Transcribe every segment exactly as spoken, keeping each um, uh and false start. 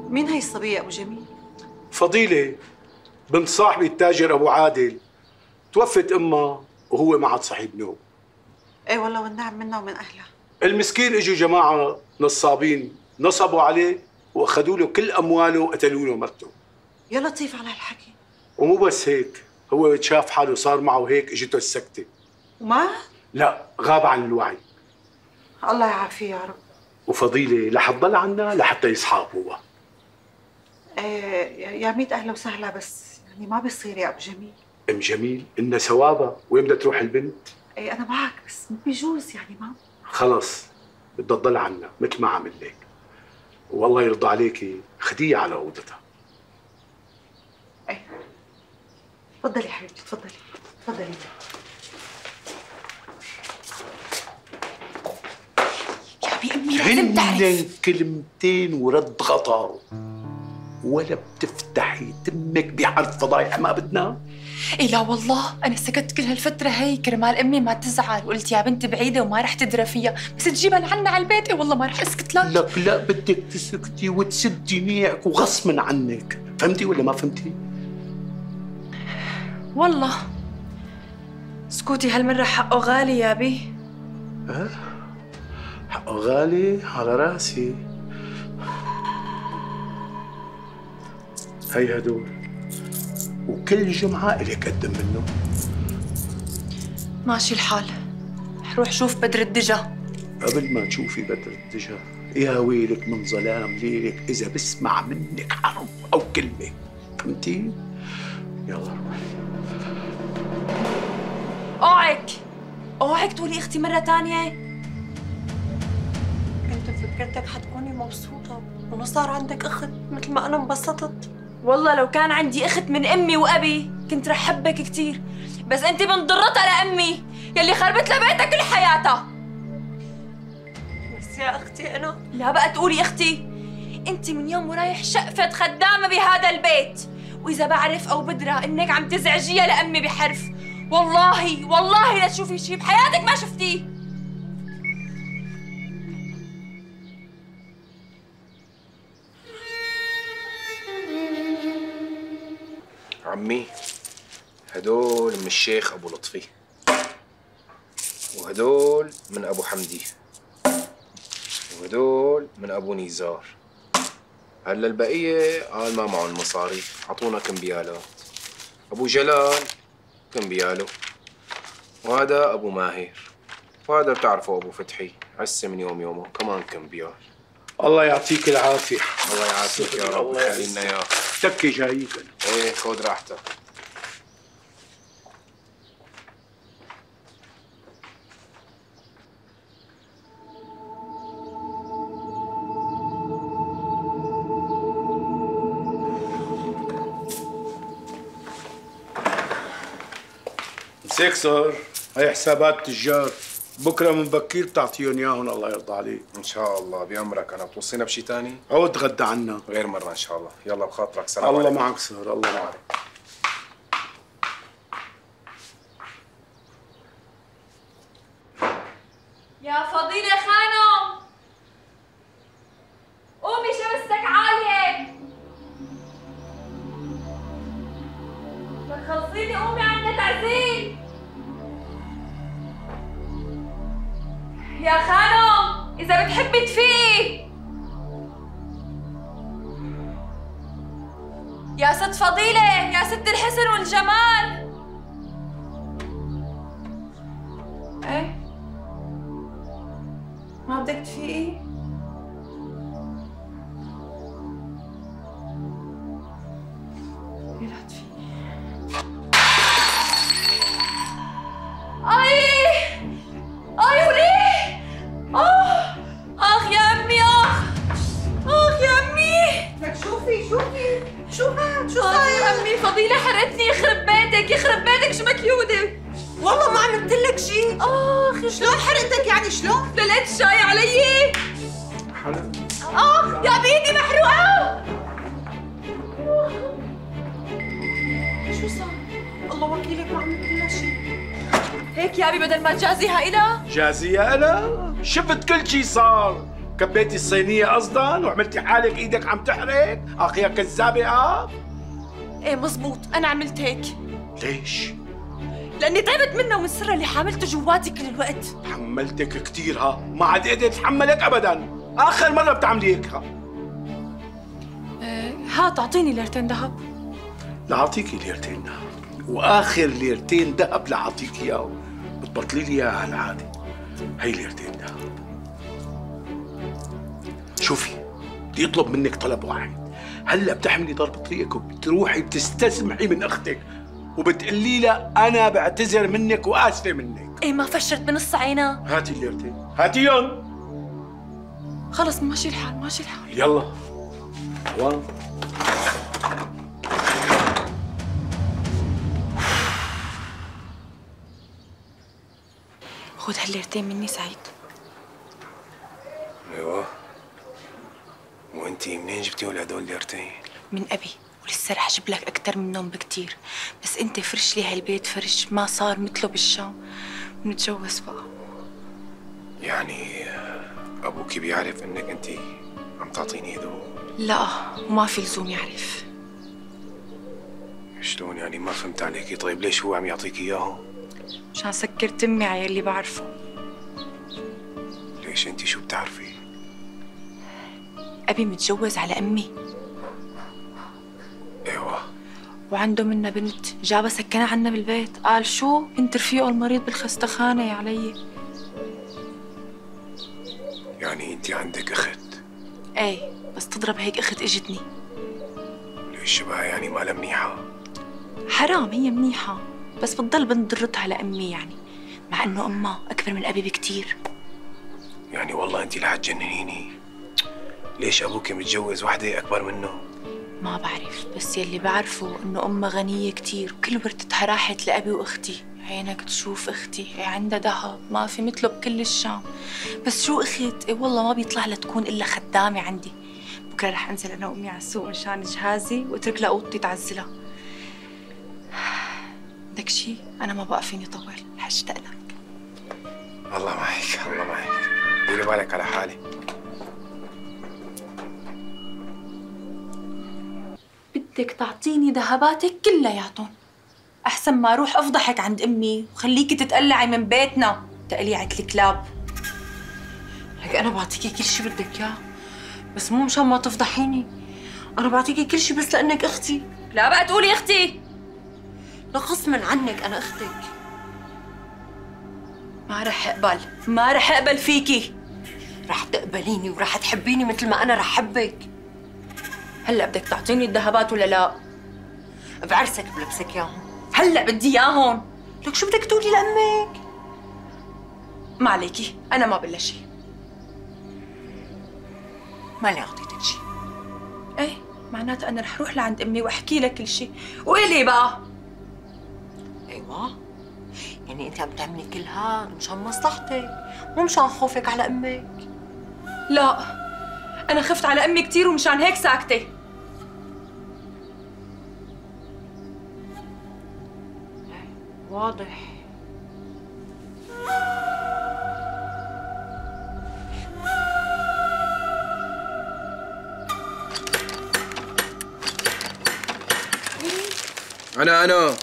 مين هي الصبية أبو جميل؟ فضيلة، بنت صاحبي التاجر أبو عادل. توفت أمها وهو ما عاد صحيب نوم. إيه والله والنعم منا ومن أهلها. المسكين اجوا جماعة نصابين نصبوا عليه واخذوا له كل أمواله وقتلوا له مرته. يا لطيف على هالحكي. ومو بس هيك، هو شاف حاله صار معه هيك اجته السكتة. وما؟ لا، غاب عن الوعي. الله يعافيه يا رب. وفضيلة رح تضل عنا لحتى يصحى هو. ايه يا ميت اهلا وسهلا، بس يعني ما بيصير يا ابو جميل. ام جميل إنها ثوابها، وين بدها تروح البنت؟ ايه انا معك، بس مو بيجوز يعني ما. خلص بدها تضل عنا مثل ما عمل لك. والله يرضى عليكي خديها على اوضتها. ايه تفضلي يا حبيبتي، تفضلي تفضلي. يا امي لازم تعرف. هن كلمتين ورد غطا، ولا بتفتحي تمك بحرف فضايح ما بدنا. إيه لا والله أنا سكت كل هالفترة هي كرمال أمي ما تزعل، وقلت يا بنت بعيدة وما رح تدرى فيها، بس تجيبها لعنا على البيت. إيه والله ما رح أسكت لك. لك لا، بدك تسكتي وتسدي نيعك وغصبا عنك. فهمتي ولا ما فهمتي؟ والله سكوتي هالمرة حقه غالي يا بي. ها؟ حقه غالي على راسي. هي هدول، وكل جمعة إلك قدم منه. ماشي الحال، رح روح شوف بدر الدجا. قبل ما تشوفي بدر الدجا يا ويلك من ظلام ليلك إذا بسمع منك حرف أو كلمة. فهمتي؟ يلا روحي. اوعك اوعك تقولي اختي مرة تانية. كنت فكرتك حتكوني مبسوطة وإنه صار عندك أخت مثل ما أنا انبسطت. والله لو كان عندي اخت من امي وابي كنت رح حبك كثير، بس انت بنضرتها لامي يلي خربت لها بيتها كل حياتها. بس يا أختي أنا لا بقى تقولي اختي، انت من يوم ورايح شقفة خدامة بهذا البيت، واذا بعرف او بدرى انك عم تزعجيها لامي بحرف، والله والله لا تشوفي شيء بحياتك ما شفتيه. عمي، هدول من الشيخ أبو لطفي، وهدول من أبو حمدي، وهدول من أبو نيزار. هلا البقية قال ما معهم مصاري، عطونا كمبيالات. أبو جلال كمبياله، وهذا أبو ماهر، وهذا بتعرفوا أبو فتحي عسى من يوم يومه كمان كمبيال. الله يعطيك العافية. الله يعافيك يا رب ويخلي لنا إياه. تكي جايك أنا. إيه خذ راحتك. مساك صار، هي حسابات تجار، بكره من بكير بتعطيهم اياهم. الله يرضى عليك. ان شاء الله بأمرك. انا بتوصينا بشي تاني؟ عود تغدى عنا غير مرة ان شاء الله. يلا بخاطرك. سلام الله عليكم. معك صار. الله معك. يا فضيلة خانم قومي شمستك عالية. خلصيني قومي عندنا تعزيل. يا خانم إذا بتحبي تفيقي. يا ست فضيلة، يا ست الحسن والجمال. ايه ما بدك تفيقي؟ لا تفيقي. اي اي وليه؟ اه اخ يا امي، اخ اخ يا امي. لك شوفي شوفي شو هاد؟ شو صاير؟ صاير؟ امي فضيلة حرقتني. يخرب بيتك يخرب بيتك شو مكيودة. والله ما عملت لك شيء. اخ شلون حرقتك يعني شلون؟ دلقت الشاي علي. حلو. اخ يا بيدي محروقة. شو صار؟ الله وكيلك ما عملت لها شيء. هيك يا ابي بدل ما تجازيها إلها. جازية أنا؟ شفت كل شي صار. كبيتي الصينية قصدا وعملتي حالك ايدك عم تحرق؟ اخ يا كذابة اه. ايه مزبوط، انا عملت هيك. ليش؟ لاني تعبت منها ومن سرها اللي حاملته جواتي كل الوقت. حملتك كثير ها، ما عاد قدرت اتحملك ابدا، اخر مرة بتعملي هيك ها. إيه هات اعطيني ليرتين ذهب. لأعطيكي ليرتين ذهب، واخر ليرتين ذهب لأعطيك اياه بتبطلي لي اياها على العادة. هي ليرتين ذهب. شوفي، بدي اطلب منك طلب واحد. هلا بتحملي ضرب طريقك وبتروحي بتستسمحي من اختك وبتقولي لها انا بعتذر منك واسفه منك. ايه ما فشرت بنص عينها. هاتي الليرتين، هاتيهم. خلص ماشي الحال ماشي الحال. يلا وان. خذ هالليرتين مني سعيد. ايوه. وانتي منين جبتيهم هدول الليرتين؟ من ابي، ولسه رح اجيب لك اكثر منهم بكثير، بس انت فرش لي هالبيت فرش ما صار مثله بالشام، ونتجوز بقى. يعني ابوكي بيعرف انك انتي عم تعطيني هدول؟ لا، وما في لزوم يعرف. شلون يعني؟ ما فهمت عليكي. طيب ليش هو عم يعطيك اياهم؟ مشان سكر تمي على يلي بعرفه. ليش انتي شو بتعرفي؟ ابي متجوز على امي. ايوه. وعنده منا بنت، جابها سكنها عنا بالبيت. قال شو؟ بنت رفيقه المريض بالخستخانه يا علي. يعني انتي عندك اخت؟ ايه، بس تضرب هيك اخت اجتني. ليش شبهها يعني مالها منيحه؟ حرام، هي منيحه بس بتضل بنت ضرتها لامي يعني، مع انه امها اكبر من ابي بكتير. يعني والله انتي رح تجننيني. ليش ابوك متجوز وحده اكبر منه؟ ما بعرف، بس يلي بعرفه انه امها غنيه كتير وكل ورثتها راحت لابي واختي. عينك تشوف اختي عندها ذهب ما في مثله بكل الشام. بس شو اخت؟ إيه والله ما بيطلع لها تكون الا خدامه عندي. بكره رح انزل انا وامي على السوق مشان جهازي واترك لها اوضتي تعزلها. بدك شي؟ انا ما بقى فيني طول، رح اشتاق لك. الله معك الله معك. ديري بالك على حالي. بدك تعطيني ذهباتك كلياتهم احسن ما اروح افضحك عند امي وخليكي تتقلعي من بيتنا تقليعة الكلاب. لك انا بعطيكي كل شيء بدك اياه، بس مو مشان ما تفضحيني. انا بعطيكي كل شيء بس لانك اختي. لا بقى تقولي اختي. لا غصبا عنك انا اختك. ما رح اقبل، ما رح اقبل فيكي. رح تقبليني ورح تحبيني مثل ما انا رح حبك. هلا بدك تعطيني الذهبات ولا لا؟ بعرسك بلبسك اياهم. هلا بدي اياهم. لك شو بدك تقولي لامك؟ ما عليكي، انا ما بلا شيء. ماني اعطيتك شيء. ايه، معناتها انا رح اروح لعند امي واحكي لك كل شيء. والي بقى. ايوه، يعني انت عم تعملي كل هاد مشان مصلحتك مو مشان خوفك على امك. لا، انا خفت على امي كثير ومشان هيك ساكته. واضح. انا انا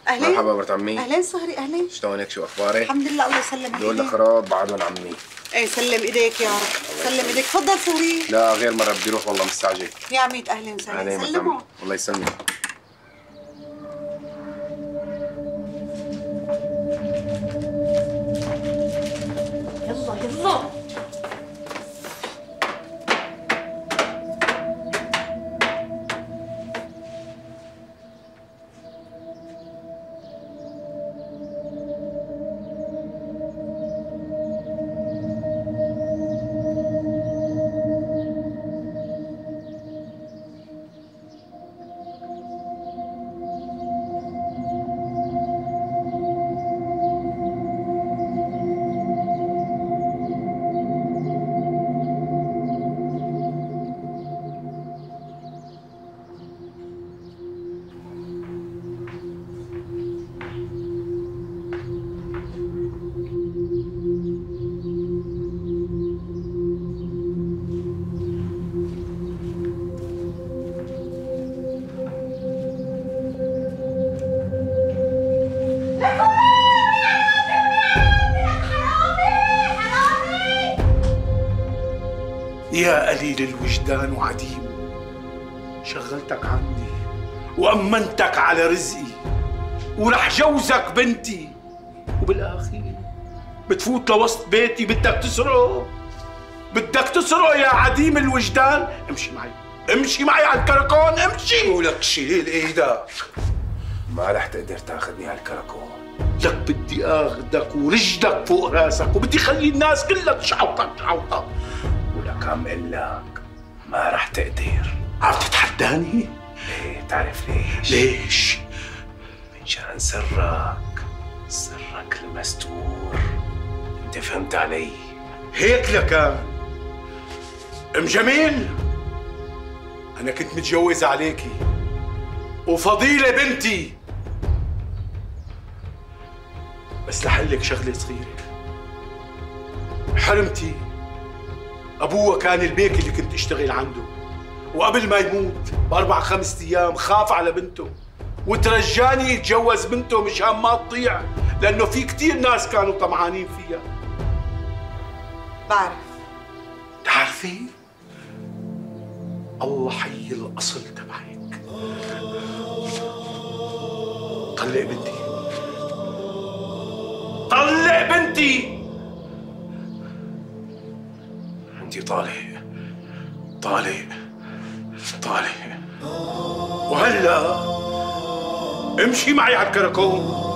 اهلين. مرحبا مرت عمي. اهلين صهري. اهلين. شلونك؟ شو اخبارك؟ الحمد لله الله يسلمك. دول الاغراض بعدهم عمي. ايه سلم ايديك يا رب. سلم ايديك. تفضل صهري. لا غير مره بدي اروح والله مستعجل. يا عميد اهلين وسهلا. اهلين مرت سلموا. عمي. الله يسلمك. يلا يلا. يا قليل الوجدان وعديم، شغلتك عندي وأمنتك على رزقي ورح جوزك بنتي، وبالآخر بتفوت لوسط بيتي بدك تسرقه، بدك تسرقه يا عديم الوجدان. امشي معي، امشي معي على الكركون، امشي. ولك شيل ايدك، ما رح تقدر تاخذني على الكركون. لك بدي اخذك ورجلك فوق راسك، وبدي خلي الناس كلها تشعوطك شعوطك. ولك عم قل لك ما رح تقدر. عم تتحداني؟ ليه؟ بتعرف ليش؟ ليش؟ منشان سرك، سرك المستور. انت فهمت علي؟ هيك لكان ام جميل، انا كنت متجوز عليكي وفضيلة بنتي، بس لحلك شغلة صغيرة. حرمتي ابوها كان البيك اللي كنت اشتغل عنده، وقبل ما يموت باربع خمس ايام خاف على بنته وترجاني يتجوز بنته مشان ما تضيع، لانه في كثير ناس كانوا طمعانين فيها. بعرف. تعرفي؟ الله حي الاصل تبعك. طلق بنتي، طلق بنتي. انت طالق طالق طالق. وهلا امشي معي على الكركون.